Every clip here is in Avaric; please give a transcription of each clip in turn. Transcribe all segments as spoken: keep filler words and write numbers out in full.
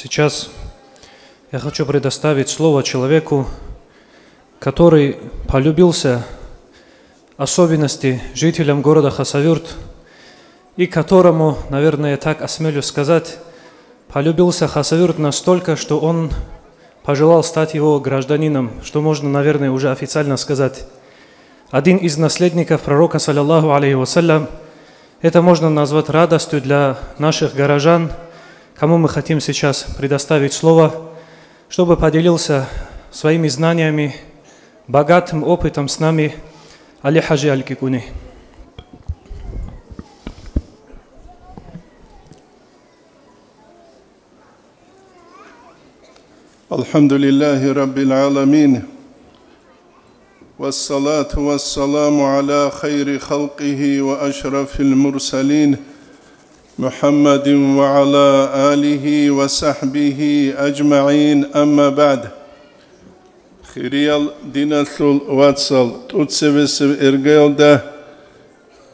Сейчас я хочу предоставить слово человеку, который полюбился, особенности жителям города Хасавюрт, и которому, наверное, так осмелюсь сказать, полюбился Хасавюрт настолько, что он пожелал стать его гражданином, что можно, наверное, уже официально сказать. Один из наследников пророка, саллаллаху алейхи вассалям, это можно назвать радостью для наших горожан, кому мы хотим сейчас предоставить слово, чтобы поделился своими знаниями, богатым опытом с нами Али Хаджи Аль-Кикуни. الحمد لله رب العالمين، والصلاة والسلام على خير خلقه وأشرف المرسلين محمد وعلى آله وصحبه أجمعين، أما بعد. Хириял диналъул вацал, тӀоцебесеб иргаялда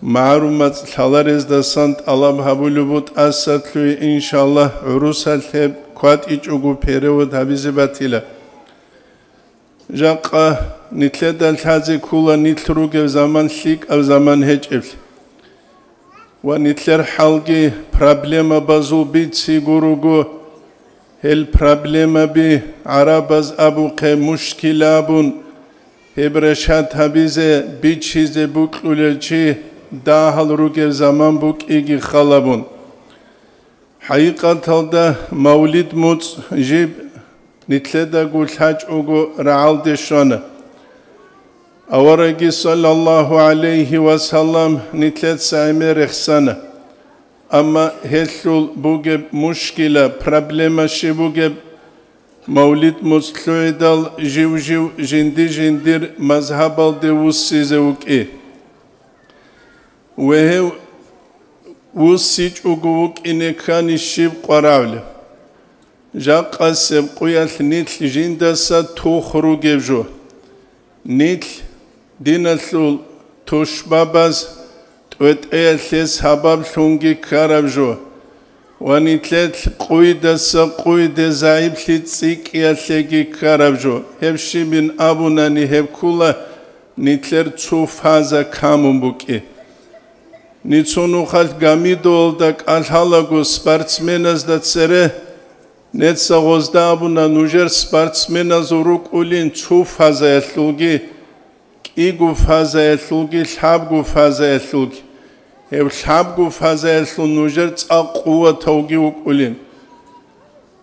МагӀарумат лъаларездасан тӀалаб гьабулеб бу тӀасалъуй, иншаллагь, гӀурусалъ гьеб кватӀичӀого перевод гьабизе батила. Жакъа нилъеда лъазе ккола нилъ ругеб заман лъикӀаб заман гьечӀеблъи. Ва нилъер хӀалги проблемабазул бициго руго, гьел проблемаби гӀарабаз абухъе мушкила абун, гьеб решат гьабизе, бичизе букьулел чи дагьал ругеб заман букӀиги халабун. ХӀакъикъаталда, мавлид муцӀ жиб нилъедаго лъачӀого рагӀалде щвана. Аварагги, саллаллаху гӀалайхи ва саллам, нилъеца гӀемер рехсана. Амма гьелъул бугеб мушкила, проблема щиб бугеб, мавлид муцӀ лъугӀидал жив-жив жинди-жиндир мазгьабалде вуссизе вукӀи. Ва гьев вуссичӀого вукӀине ккани щиб къваравли? Жакъасеб къуялъ нилъ жиндаса тух ругеб жо. Нилъ диналъул тушбабаз тӀветӀеялъе сабаблъунги ккараб жо ва нилъелъ къуйдаса къуйде загӀиплъи цӀикӀкӀиялъеги ккараб жо. Гьеб щибин абунани, гьеб ккула нилъер цо фаза камун букӀи. Нецо нухалъ Гамидовалда кӀалъалаго спортсменазда цере, неца гъозда абуна, нужер спортсменазул рукӀулин цо фазаялъулги, кӀиго фазаялъулги, лъабго фазаялъулги. Гьев лъабго фазаялъул нужер цӀакъ къуватавги вукӀулин.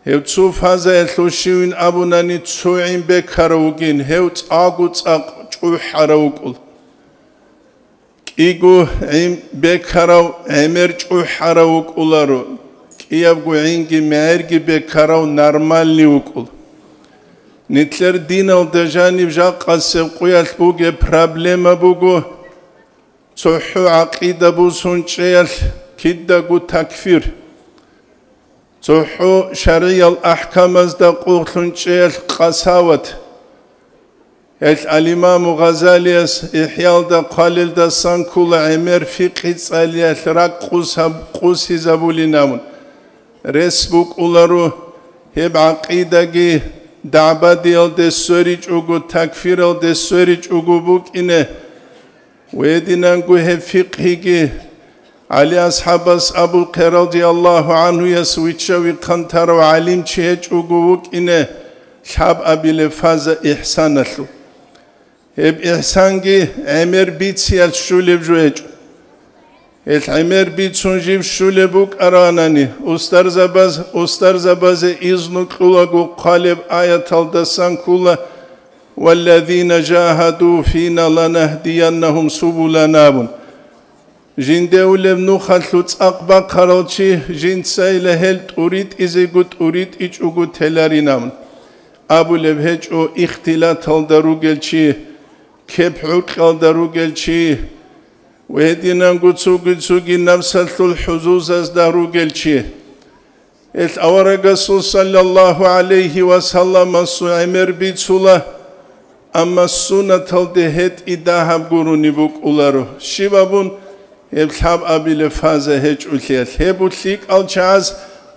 Гьев цо фазаялъул щивин абунани цо гӀин бекарав вугин, гьев цӀакъго цӀакъ чӀухӀарав вукӀул. КӀиго гӀин бекарав гӀемер чӀухӀарав вукӀуларо, кӀиябго гӀинги мегӀерги бекарав нормальный вукӀул. Нилъер диналда жаниб жакъасеб къуялъ бугеб проблема буго, цохӀо гӀакъида бусун чӀеялъ кидаго такфир, цохӀо шаргӀиял ахӀкамазда къуллъун чӀеялъ къасават. Гьелъ ал-Имаму Гъазалияс ИхӀялда хъвалелдасан ккола гӀемер фикъи цӀалиялъ ракӀ къусаб-, къусизабулин абун. Рес букӀуларо, гьеб гӀакъидаги дагӀбадиялде сверичӀого, такфиралде сверичӀого букӀине. Гьединанго гьеб фикъгьиги ГӀали асхӀабас абухъе радияллагьу гӀанхуяс виччави хъантарав гӀалимчи гьечӀого вукӀине лъабабилеб фаза ихсаналъул. Гьеб ихсанги гӀемер бициялъ щулеб жо гьечӀо. Гьелъ гӀемер бицун жиб щулеб букӀаранани, устарзабаз, устарзабазе изну кьулаго хъвалеб аяталдасан ккола: «Валлазина жагьаду фина ланагьдияннагьум субулана», – абун. Жинде улеб нухалъул цӀакъ бахъарал чи жинцайила гьел тӀуритӀизего тӀуритӀичӀого теларин абун. Абулеб гьечӀо ихтилаталда ругел чи, кеп-гӀукьалда ругел чи, ва гьединанго цоги-цоги напсалъул хӀузузазда ругел чи. Гьелъ аварагасул саллаллагьу гӀалайгьи ва салламасул гӀемер бицула, амма суннаталде гьетӀи дагьаб гурони букӀуларо. Щиб абун, гьеб лъабабилеб фаза гьечӀолъиялъ. Гьеб лъикӀал чагӀаз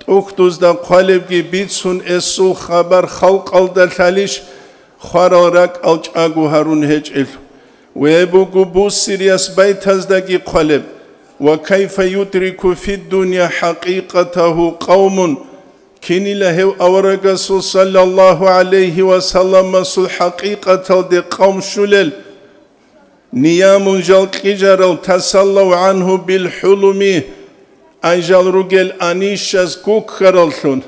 ТӀухьдузда хъвалебги бицун эсул хабар халкъалда лъалищ, хварал ракӀал чӀаго гьарун гьечӀел. Ве буго бусириас байтаздаги хъвалеб: «Ва кайфа юдрику фиддуния хӀакъикъатагьу къавмун», кинила гьев аварагасул саллаллагьу гӀалайгьи ва салламасул хӀакъикъаталде къавм щулел, «Ниямун жал кьижарал тасаллав гӀангьу билхӀулуми», ай жал ругел анищас гуккараллъун,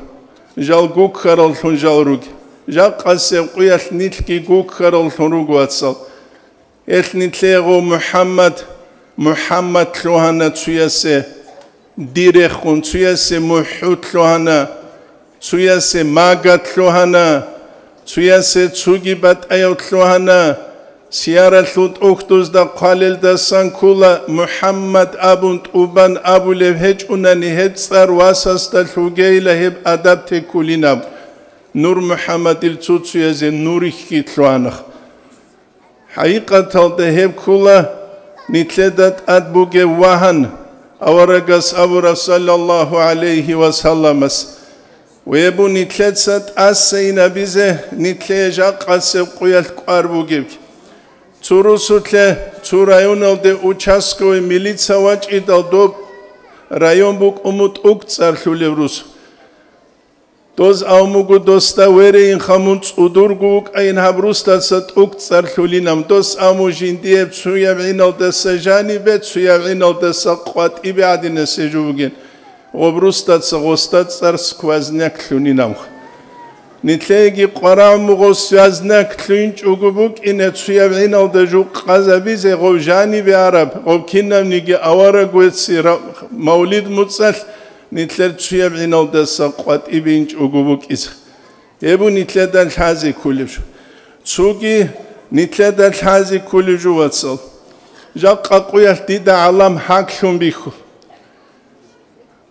жал гуккараллъун жал руге. Жакъасеб къуялъ нилъги гуккараллъун руго, вацал. Гьелъ нилъего МухӀаммад, МухӀаммад лъугьана цуясе, дирехун цуясе МухӀуд лъугьана, цуясе Магад лъугьана, цуясе цуги батӀаяв лъугьана. Сияралъул тӀухьдузда хъвалелдасан ккола, МухӀаммад абун тӀубан абулев гьечӀунани, гьеб цӀар васасда лъугейила, гьеб адаб теккулинаб. Нур МухӀаммадил цуцуязе нурихьги лъугьанах. ХӀакъикъаталда гьеб ккола нилъеда тӀад бугеб вагьан, аварагас абураб, саллаллагьу гӀалайгьи ва салламас: «Ве бу, нилъеца тӀасайин абизе, нилъее жакъасеб къуялъ кӀвар бугеб». Цо русулъе цо районалде участковый милица вачӀидал, доб район букӀун бу ТӀугцӀар лъулеб рус. Дос абун буго досда: «Верейинха, мун цӀудурго вукӀайин гьаб русдаса ТӀугцӀар лъулинаб». Дос абун буго: «Жиндие цуяб гӀиналдаса жанибе, цуяб гӀиналдаса къватӀибе гӀадинасе жо бугин. Гъоб русдаса гъосда цӀар сквозняк лъунинабха». Нилъееги къварагӀумугъав сквозняк лъугьинчӀого букӀине, цуяб гӀиналда жо къазабизе, гъов жанибе араб, гъов кинабниги авараг вецци ра-, мавлид муцӀалъ, нилъер цуяб гӀиналдаса къватӀибе инчӀого букӀизе. Гьеб бу нилъеда лъазе кколеб жо. Цоги нилъеда лъазе кколеб жо, вацал. Жакъа къуялъ дида гӀалам гьаглъун бихьу.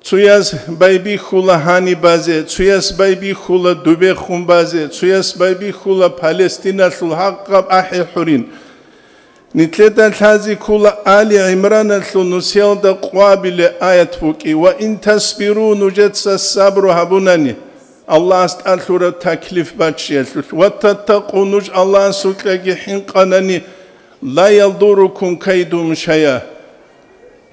Цуяс байбихьула гьаниб базе, цуяс байбихьула дубехун базе, цуяс байбихьула Палестиналъул гьагъаб ахӀи хӀурин. Нилъеда лъази ккола Али ГӀимраналъул нусиялда къвабиле аят букӀи: «Ва ин тасбиру», нужеца сабру гьабунани, Аллагьас тӀалъураб таклиф баччиялъулъ, «ва таттакъу», нуж Аллагьасукьаги хӀинкъанани, «ла ядуррукум кайдухум шайъа».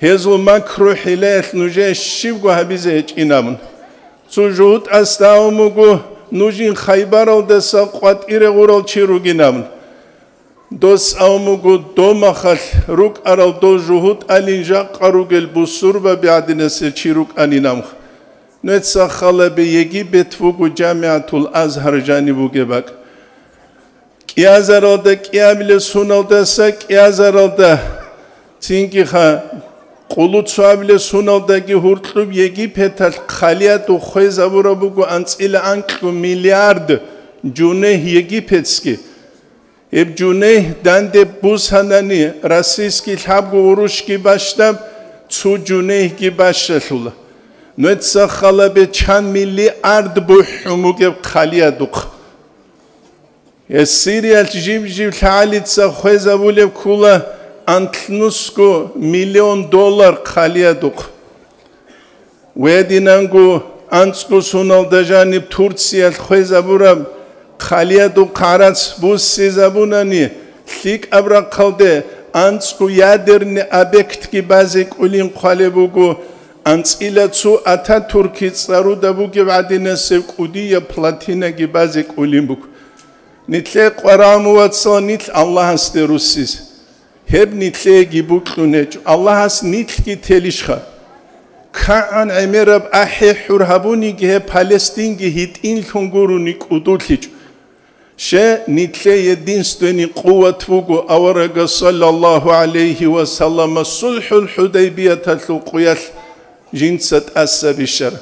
Гьезул макру-хӀилаялъ нужее щибго гьабизе гьечӀин абун. Цо жугьутӀасда абун буго, нужин Хайбаралдаса къватӀире гъурал чи ругин абун. Дос абун буго, домахалъ рукӀарал дол жугьутӀалин жакъа ругел бусурбаби гӀадинасе чи рукӀанин абун. Нуеца халабе Египет буго ЖамигӀатул Азгьар жаниб бугеб бакӀ. КӀиазаралда кӀиабилеб суналдаса кӀиазаралда, цинги ха-, къулу цоабилеб суналдаги гьуркьуб Египеталъ хъалиядухъ хвезабураб буго анцӀила анкьго миллиард жунегь египетский. Гьеб жунегь данде бусанани, российский лъабго урушги бащдаб, цо жунегьги бащалъула. Нуеца халабе чан миллиард бухӀун бугеб хъалиядухъ. Гьес Сириялъ жиб-жиб лъагӀалица хвезабулеб ккола анлънусго миллион доллар хъалиядухъ. Гьединанго анцӀго суналда жаниб Турциялъ хвезабураб хъалиядухъ гӀарац буссизабунани, лъикӀаб рахъалде анцӀго ядерный объектги базе кӀулин хъвалеб буго, анцӀила цо Ататурки цӀаруда бугеб гӀадинасеб кӀудияб плотинаги базе кӀулин буго. Нилъее къварагӀму, вацал, нилъ Аллагьасде руссизе. Гьеб нилъееги букьун гьечӀо. Аллагьас нилъги телищха? КигӀан гӀемераб ахӀи-хӀур гьабуниги, гьеб Палестинги гьитӀинлъун гурони кӀудулъичӀо. Ще, нилъее единственный къуват буго аварага саллаллагьу гӀалайгьи ва саллама сулхӀул ХӀудайбияталъул къуялъ жинца тӀаса бищараб.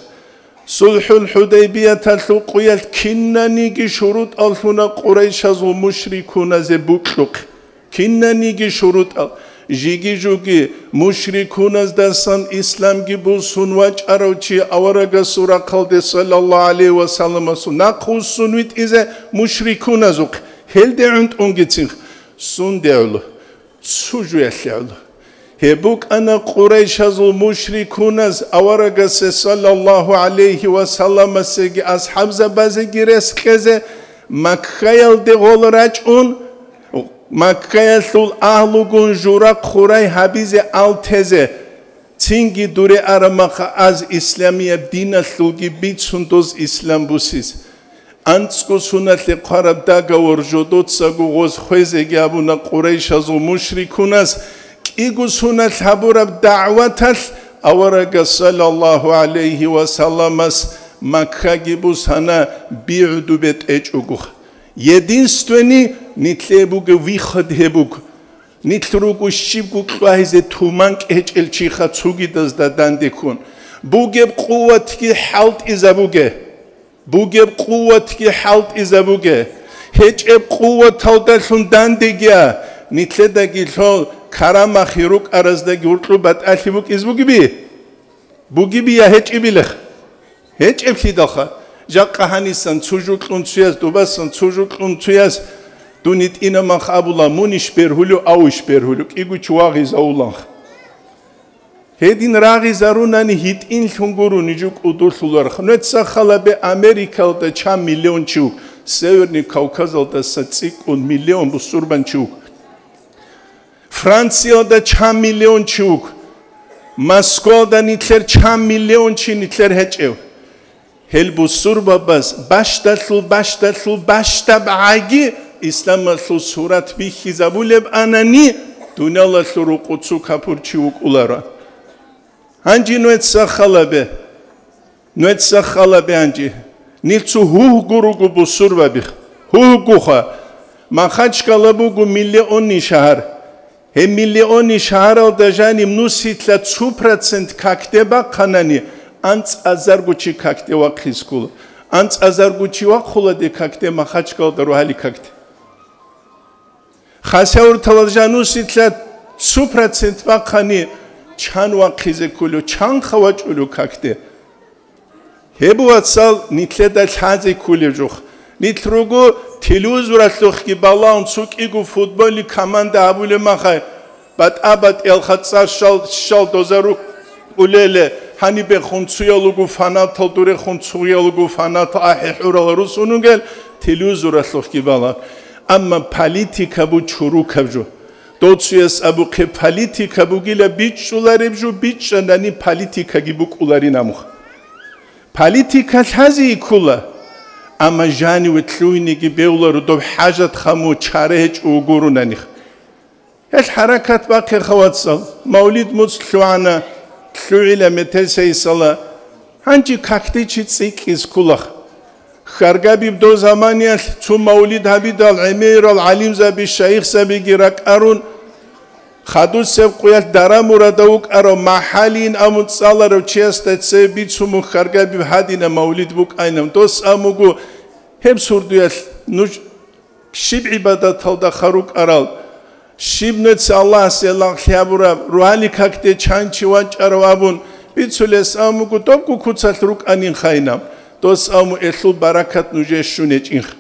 СулхӀул ХӀудайбияталъул къуялъ кинаниги шурутӀал лъуна къурайшазул мушрикуназе букьухъе. Кинаниги шурутӀал. Жиги-жуги мушрикуназдасан исламги бусун вачӀарав чи аварагасул рахъалде саллаллагьу гӀалайгьи ва салламасул нахъ вуссун витӀизе мушрикуназухъе. Гьелде гӀунтӀунгицин. Сунде гӀоло? Цо жуялъе гӀоло. Гьеб букӀана Къурайшазул мушрикуназ аварагасе саллаллагьу гӀалайгьи ва салламасеги асхӀабзабазеги рес кьезе, Маккаялде гъол рачӀун, Маккаялъул агьлугун жура хъурай гьабизе алтезе, цинги дуре арамаха аз исламияб диналъулги бицун доз ислам бусиз. АнцӀго суналъе хъвараб дагавор жодоцаго гъоз хвезеги абуна Къурайшазул мушрикунас, кӀиго суналъ гьабураб дагӀваталъ аварагас саллаллагьу гӀалайгьи ва салламас Маккаги бусана бигӀуду бетӀечӀого. Единственный, нилъее бугеб выход гьеб буго. Нилъ руго щибго кьвагьизе туман кӀечӀел чиха цугидазда дандеккун. Бугеб къуватги хӀалтӀизабуге. Бугеб къуватги хӀалтӀизабуге. ГьечӀеб къуваталдалъун дандегиа, нилъедаги лъо карамахъи рукӀараздаги гьуркьу батӀалъи букӀиз бугиби? Бугибия гьечӀибилех? ГьечӀеблъидалха, жакъа гьанисан цу жукьун цуяс, дубасан цу жукьун цуяс, дун гьитӀинамах абула, мунищ бергьулев, авищ бергьулев, кӀиго чи вагъизавуланха. Гьедин рагъизарунани гьитӀинлъун гуро нижу кӀудулъуларха. Нуеца халабе Америкалда чан миллион чи вук, Северный Кавказалдаса цӀикӀкӀун миллион бусурбан чи вук. Франциялда чан миллион чи вук, Москвалда нилъер чан миллион чи нилъер гьечӀев. Гьел бусурбабаз бащдалъул, бащдалъул, бащдаб гӀаги исламалъул сурат бихьизабулеб анани, дуниялалъул рукъу цу капурчи вукӀуларо. Гьанже нуеца халабе. Нуеца халабе гьанже. Нилъ цо гьугьго руго бусурбаби. Гьугьгоха. Махачкала буго миллионный шагьар. Гьеб миллионный шагьаралда жаниб нусилъа цо процент какде бахъанани, анцӀазарго чи какде вахъизе ккола. АнцӀазарго чи вахъуладе какде Махачкалда рогьали какде. Хасавюрталда жанусилъа цо процент бахъани, чан вахъизе кколев, чанха вачӀулев какде. Гьеб, вацал, нилъеда лъазе кколев жух. Нилъ руго телевизоралъухъги балагьун цо кӀиго футбольный команда гьабулеб махай, батӀа-батӀиялха цӀар щал, щал доза рукӀулеле, гьанибехун цуял руго фанатал, дурехун цуял руго фанатал, ахӀи-хӀурал русун ругел телевизоралъухъги балагь. Амма политика бу чурукаб жо. Дов цуяс абухъе политика бугила бичӀчӀулареб жо, бичӀчӀанани политикаги букӀуларин амуха. Политика лъазе ккола, амма жаниве лъугьинеги бегьуларо доб хӀажат хаму чара гьечӀо гуронаних. Гьел хӀаракат бахъеха, вацал, мавлид муцӀ лъугӀана, лъугӀила метер сайсала, гьанже какде чи цӀикӀкӀиз ккулах. Хьаргабиб дов заманиялъ цо мавлид гьабидал гӀемерал гӀалимзаби, шайихзабиги ракӀарун, хадусеб къуялъ дара-мурада вукӀарав, махӀалийин абун цӀаларав чиясда цебе бицун мун хьаргабиб гьадинаб мавлид букӀайнав. Дос абун буго, гьеб сурдуялъ нуж щиб гӀибадаталда хъарукӀарал, щиб нуца Аллагьасе лагълъи гьабураб, рогьали какде чан чи вачӀарав абун бицулес абун буго, добго куцалъ рукӀанин хайнаб, дос абун элъул баракат нужее щун гьечӀинха.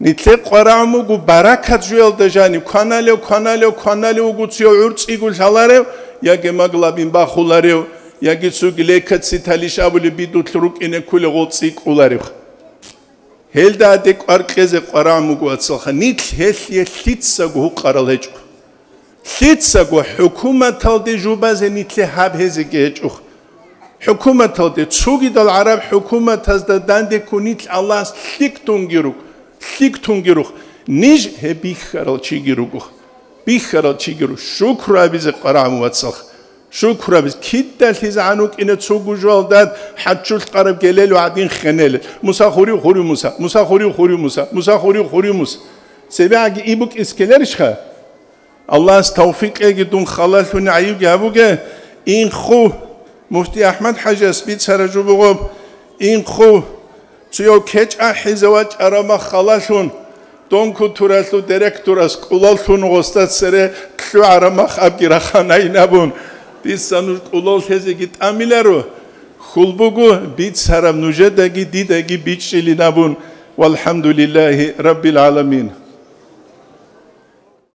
Нилъе къварагӀун буго баракат жуялда жаниб, кваналев, кваналев, кваналев вуго цо гӀурцӀиго лъаларев, яги маглабин бахуларев, яги цоги лейкоцит талищ абулеб бидулъ рукӀине кколев гъол цӀикӀкӀуларев. Гьелда гьаде кӀвар кьезе къварагӀун буго, вацалха, нилъ гьелъие лъицаго гьукъарал гьечӀо. Лъицаго хӀукуматалде жубазе нилъе гьаб гьезеги гьечӀо. ХӀукуматалде, цогидал гӀараб хӀукуматазда дандеккун нилъ Аллагьас лъикӀ тунги рук, лъикӀ тунги рух, ниж гьеб бихьарал чиги руго. Бихьарал чиги руго. Шукру абизе къварагӀун, вацалха. Шукрабиз кидалъизегӀан вукӀине цо гужуялдад хӀаччулъ къараб гелел ва гӀадин хенелел. Муса хурив, хурив Муса, Муса хурив, хурив Муса, Муса хурив, хурив Муса. ЦебегӀаги ибукӀис ккеларищха? Аллагьас тавфикъ кьеги дун халалъуни гӀайибги гьабуге. Инхъу, муфти АхӀмад-хӀажияс бицара жубугъуб, инхъу. Цояв кечӀ ахӀизе вачӀараб мах халалъун, донкутуралъул директорас кӀулал лъун гъосда цере лъугӀараб мах абги раханайин абун, дица нуж кӀулал лъезеги тӀамиларо, хьул буго, бицараб нужедаги дидаги бичӀчӀилин абун. ВалхӀамдулиллагьи раббил гӀаламин.